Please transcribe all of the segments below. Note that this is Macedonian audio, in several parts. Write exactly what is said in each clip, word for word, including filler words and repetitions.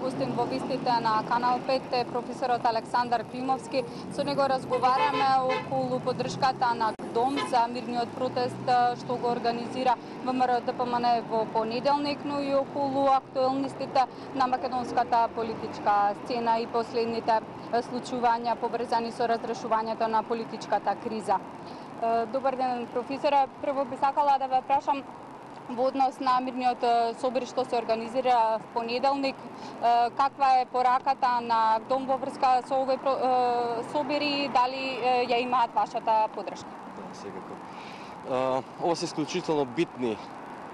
гостин во вестите на Канал пет е професорот Александар Климовски. Со него разговараме околу поддршката на Дом за мирниот протест што го организира ВМРО Д П М Н во понеделник, но и околу актуелностите на македонската политичка сцена и последните случувања поврзани со разрешувањето на политичката криза. Добар ден, професоре. Прво би сакала да ве прашам во однос на мирниот собир што се организира в понеделник, каква е пораката на Дом во врска со овој собир и дали ја имаат вашата поддршка? Да, секако. Ова се исклучително битни,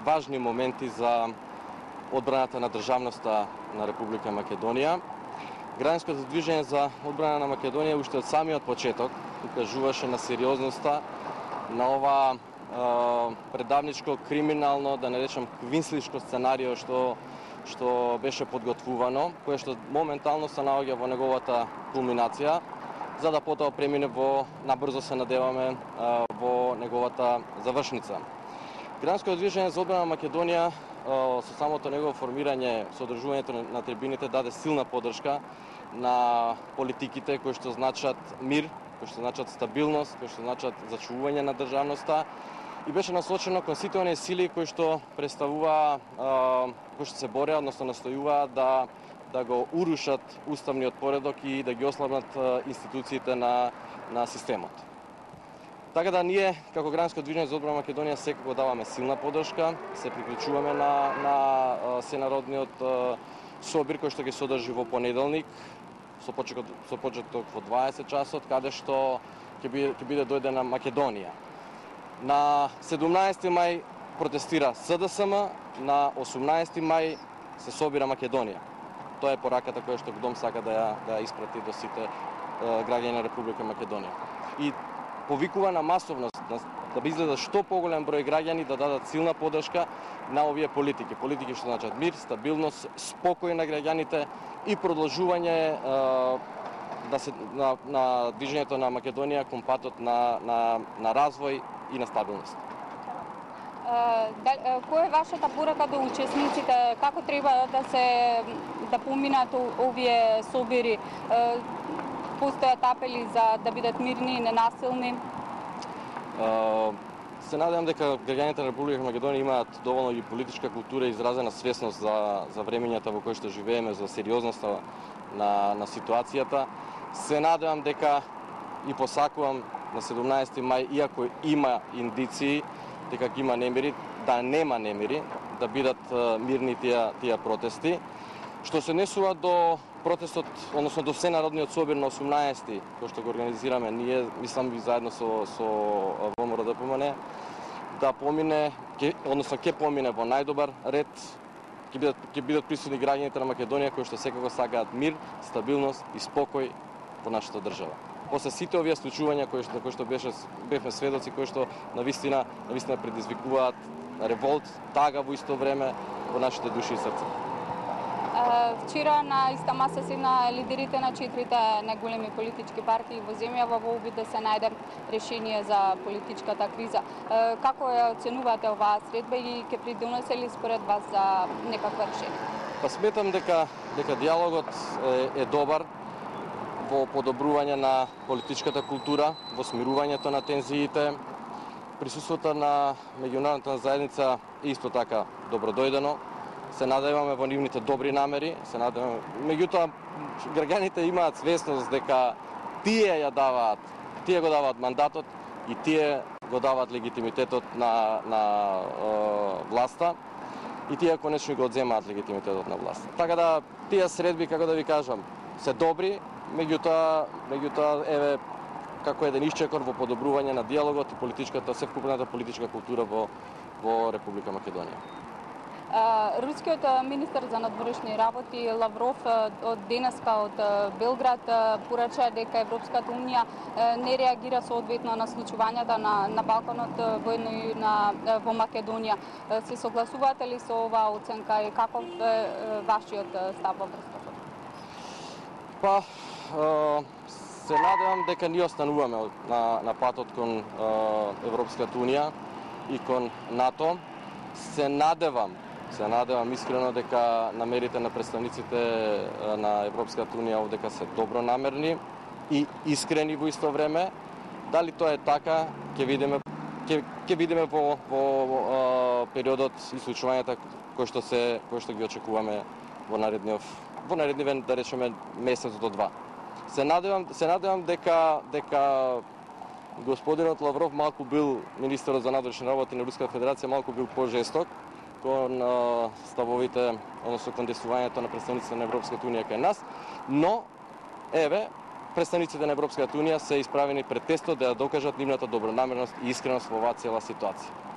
важни моменти за одбраната на државноста на Република Македонија. Граѓанското движење за одбрана на Македонија уште од самиот почеток укажуваше на сериозноста на ова предавничко, криминално, да не речам квинслишко сценарио што што беше подготвувано, кое што моментално се наоѓа во неговата кулминација, за да потоа премине во, набрзо се надеваме, во неговата завршница. Граѓанското движење за одбрана на Македонија со самото негово формирање, со одржувањето на трибините даде силна поддршка на политиките кои што значат мир, кои што значат стабилност, кои што значат зачувување на државноста, и беше насочено кон сите оние сили кои што представува, кои што се бореа, односно настојуваа да да го урушат уставниот поредок и да ги ослабнат институциите на на системот. Така да ние како Граѓанско движење за одбрана Македонија секако даваме силна поддршка, се приклучуваме на на сенародниот собир кој што ги содржи во понеделник со почеток со почеток во дваесет часот, каде што ќе биде ќе биде дојдена Македонија. На седумнаесети мај протестира С Д С М, на осумнаесети мај се собира Македонија. Тоа е пораката која што Дом сака да ја да ја испрати до сите граѓани на Република Македонија. И повикува на масовност, да би изгледа што поголем број граѓани да дадат силна поддршка на овие политики. Политики што значат мир, стабилност, спокој на граѓаните и продолжување да се на, на движењето на Македонија кон патот на на на развој и на стабилност. Која е вашата порака до учесниците? Како треба да се да поминат овие собири? Постојат апели за да бидат мирни и ненасилни? Се надевам дека граѓаните на Република Македонија имаат доволно и политичка култура и изразена свесност за за времењата во кои што живееме, за сериозноста на на ситуацијата. Се надевам дека и посакувам на седумнаесети мај, иако има индиции дека ќе има немири, да нема немири, да бидат мирни тие тие протести. Што се однесува до протестот, односно до Сенародниот собир на осумнаесети, кој што го организираме ние, мислам и заедно со со ВМРО Д П М Н, да помине, ке, односно ќе помине во најдобар ред, ќе бидат ќе бидат присутни граѓаните на Македонија кои што секако сакаат мир, стабилност и спокој во нашата држава. После сите овие случувања кои што кои што беше бевме сведоци, кои што навистина навистина предизвикуваат револт, тага во исто време во нашите души и срца. Вчера на иста маса седна лидерите на четирите најголеми политички партии во земјава во обид да се најде решение за политичката криза. Како ја оценувате оваа средба и ќе придонесе ли според вас за некаква решение? Па сметам дека дека диалогот е, е добар во подобрување на политичката култура, во смирувањето на тензиите. Присуството на меѓународната заедница е исто така добродојдено. Се надеваме во нивните добри намери, се надеваме. Меѓутоа, граѓаните имаат свесност дека тие ја даваат, тие го даваат мандатот и тие го даваат легитимитетот на на е, власта и тие конечно го одземаат легитимитетот на власта. Така да тие средби, како да ви кажам, се добри, меѓутоа меѓутоа еве како еден исчекор во подобрување на диалогот и политичката, севкупната политичка култура во во Република Македонија. Рускиот министер за надворешни работи Лавров од денеска од Белград порача дека Европската унија не реагира соодветно на случувањата на на Балканот, воедно и на во Македонија. Се согласувате ли со оваа оценка и каков е вашиот став во врска со тоа? Па се надевам дека ние остануваме на на патот кон Европската унија и кон НАТО. Се надевам Се надевам искрено дека намерите на представниците на Европската унија овдека се добронамерни и искрени во исто време. Дали тоа е така, ќе видиме ќе ќе видиме во во а, периодот и случувањата кои што се кои што ги очекуваме во наредниот во нареднивен, да речеме, месец до два. Се надевам се надевам дека дека господинот Лавров малку бил министерот за надворешни работи на Руската федерација малку бил пожесток кон а, ставовите, односно кон действувањето на представниците на Европската унија кај нас, но еве представниците на Европската унија се исправени пред тестот да ја докажат нивната добронамерност и искреност во оваа цела ситуација.